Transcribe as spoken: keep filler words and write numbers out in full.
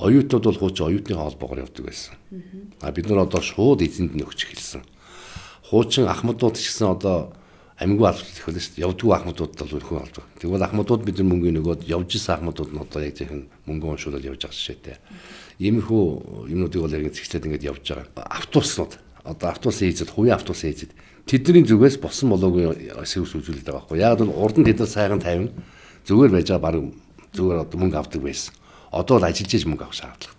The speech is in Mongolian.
оюутнууд бол хуучин оюутны холбоогоор явдаг байсан. А бид нар одоо шууд эзэнд нь өгч эхэлсэн. Хуучин ахмадууд ч гэсэн одоо амьгүй албат их байлаа шүү дээ. Явдгүй ахмадууд бол өрхөө албат. Тэгвэл ахмадууд бид нар мөнгөний нөгөөд явж исэн ахмадууд нь одоо яг зөвхөн мөнгө уншуулаад явж байгаа жишээтэй. Иймэрхүү юмнуудыг бол яг зэгцлээд ингээд явж байгаа. Автобуснууд одоо автобусын эзэд, хувийн автобусын эзэд тэдний зүгээс босон болоогүй сэвс үзүүлээд байгаа байхгүй. Яг бол урд нь тэд нар сайхан тавина. Зүгээр байж байгаа баг зүгээр одоо мөнгө авдаг байсан. Одоо л ажиллаж иж мөнгө авах шаардлага.